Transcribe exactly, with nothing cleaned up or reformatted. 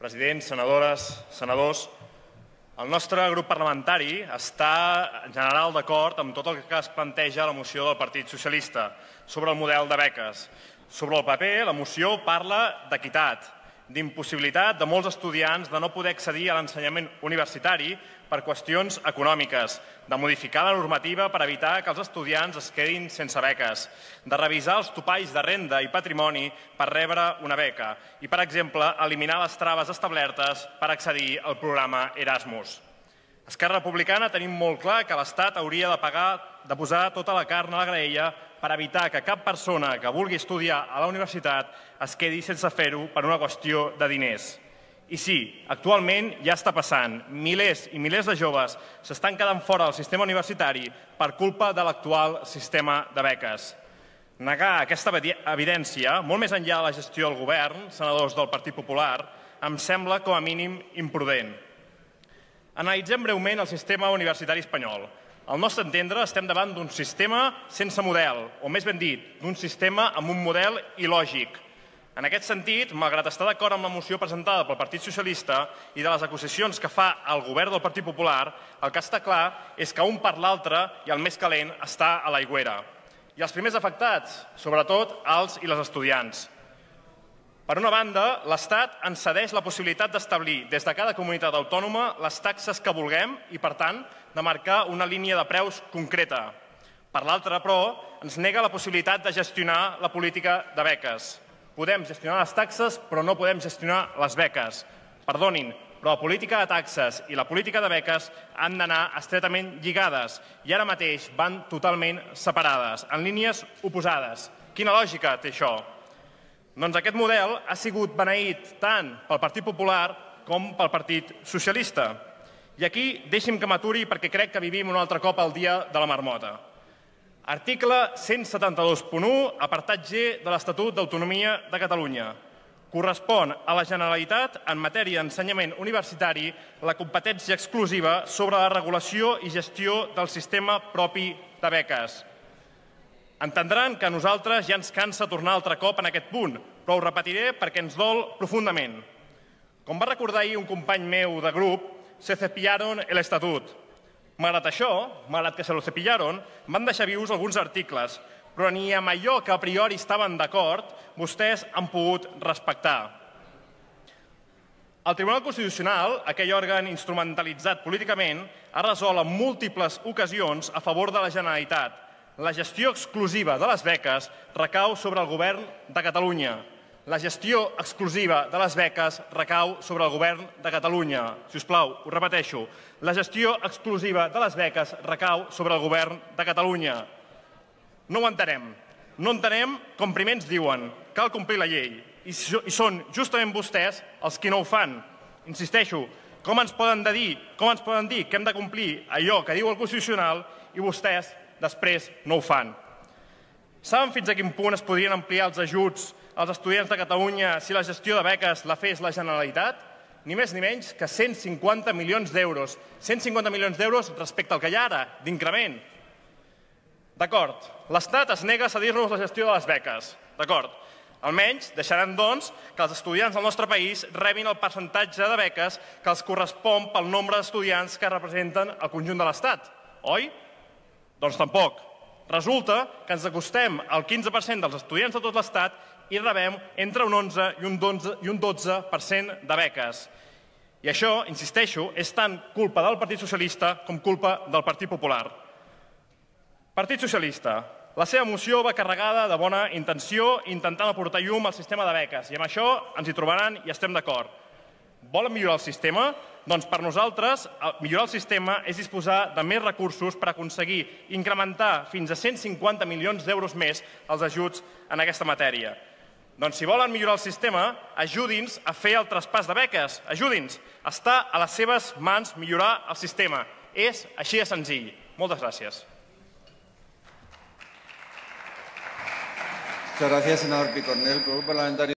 president, senadores, senadors, el nostre grup parlamentari està en general d'acord amb tot el que es planteja a la moció del Partit Socialista sobre el model de beques. Sobre el paper, la moció parla d'equitat, d'impossibilitat de molts estudiants de no poder accedir a l'ensenyament universitari per qüestions econòmiques, de modificar la normativa per evitar que els estudiants es quedin sense beques, de revisar els topalls de renda i patrimoni per rebre una beca i, per exemple, eliminar les traves establertes per accedir al programa Erasmus. Esquerra Republicana tenim molt clar que l'Estat hauria de pagar, de posar tota la carn a la graella per evitar que cap persona que vulgui estudiar a la universitat es quedi sense fer-ho per una qüestió de diners. I sí, actualment ja està passant. Milers i milers de joves s'estan quedant fora del sistema universitari per culpa de l'actual sistema de beques. Negar aquesta evidència, molt més enllà de la gestió del govern, senadors del Partit Popular, em sembla com a mínim imprudent. Analitzem breument el sistema universitari espanyol. Al nostre entendre, estem davant d'un sistema sense model, o més ben dit, d'un sistema amb un model il·lògic. En aquest sentit, malgrat estar d'acord amb la moció presentada pel Partit Socialista i de les acusacions que fa el govern del Partit Popular, el que està clar és que un per l'altre i el més calent està a l'aigüera. I els primers afectats, sobretot els i les estudiants. Per una banda, l'Estat ens cedeix la possibilitat d'establir des de cada comunitat autònoma les taxes que vulguem i, per tant, de marcar una línia de preus concreta. Per l'altra, però, ens nega la possibilitat de gestionar la política de beques. Podem gestionar les taxes, però no podem gestionar les beques. Perdonin, però la política de taxes i la política de beques han d'anar estretament lligades i ara mateix van totalment separades, en línies oposades. Quina lògica té això? Doncs aquest model ha sigut beneït tant pel Partit Popular com pel Partit Socialista. I aquí deixi'm que m'aturi perquè crec que vivim un altre cop el dia de la marmota. Article cent setanta-dos punt u, apartat G de l'Estatut d'Autonomia de Catalunya. Correspon a la Generalitat, en matèria d'ensenyament universitari, la competència exclusiva sobre la regulació i gestió del sistema propi de beques. Entendran que a nosaltres ja ens cansa tornar altre cop en aquest punt, però ho repetiré perquè ens dol profundament. Com va recordar ahir un company meu de grup, se cepillaron el estatut. Malgrat això, malgrat que se lo cepillaron, van deixar vius alguns articles, però ni amb allò que a priori estaven d'acord, vostès han pogut respectar. El Tribunal Constitucional, aquell òrgan instrumentalitzat políticament, ha resolt en múltiples ocasions a favor de la Generalitat. La gestió exclusiva de les beques recau sobre el govern de Catalunya. La gestió exclusiva de les beques recau sobre el govern de Catalunya. Si us plau, ho repeteixo. La gestió exclusiva de les beques recau sobre el govern de Catalunya. No ho entenem. No entenem com primer ens diuen cal complir la llei i són justament vostès els qui no ho fan. Insisteixo, com ens poden dir, com ens poden dir que hem de complir allò que diu el Constitucional i vostès després no ho fan. Saben fins a quin punt es podrien ampliar els ajuts als estudiants de Catalunya si la gestió de beques la fes la Generalitat? Ni més ni menys que cent cinquanta milions d'euros. cent cinquanta milions d'euros respecte al que hi ha ara, d'increment. D'acord, l'Estat es nega a cedir-nos la gestió de les beques. D'acord. Almenys deixaran, doncs, que els estudiants del nostre país rebin el percentatge de beques que els correspon pel nombre d'estudiants que representen el conjunt de l'Estat. Oi? Doncs tampoc. Resulta que ens acostem al quinze per cent dels estudiants de tot l'Estat i rebem entre un onze i un dotze per cent de beques. I això, insisteixo, és tant culpa del Partit Socialista com culpa del Partit Popular. Partit Socialista. La seva moció va carregada de bona intenció intentant aportar llum al sistema de beques i amb això ens hi trobaran i estem d'acord. Volen millorar el sistema? Doncs per nosaltres millorar el sistema és disposar de més recursos per aconseguir incrementar fins a cent cinquanta milions d'euros més els ajuts en aquesta matèria. Doncs si volen millorar el sistema, ajudi'ns a fer el traspàs de beques, ajudi'ns. Està a les seves mans millorar el sistema. És així de senzill. Moltes gràcies. Muchas gracias, senador Picornell. Grupo Parlamentario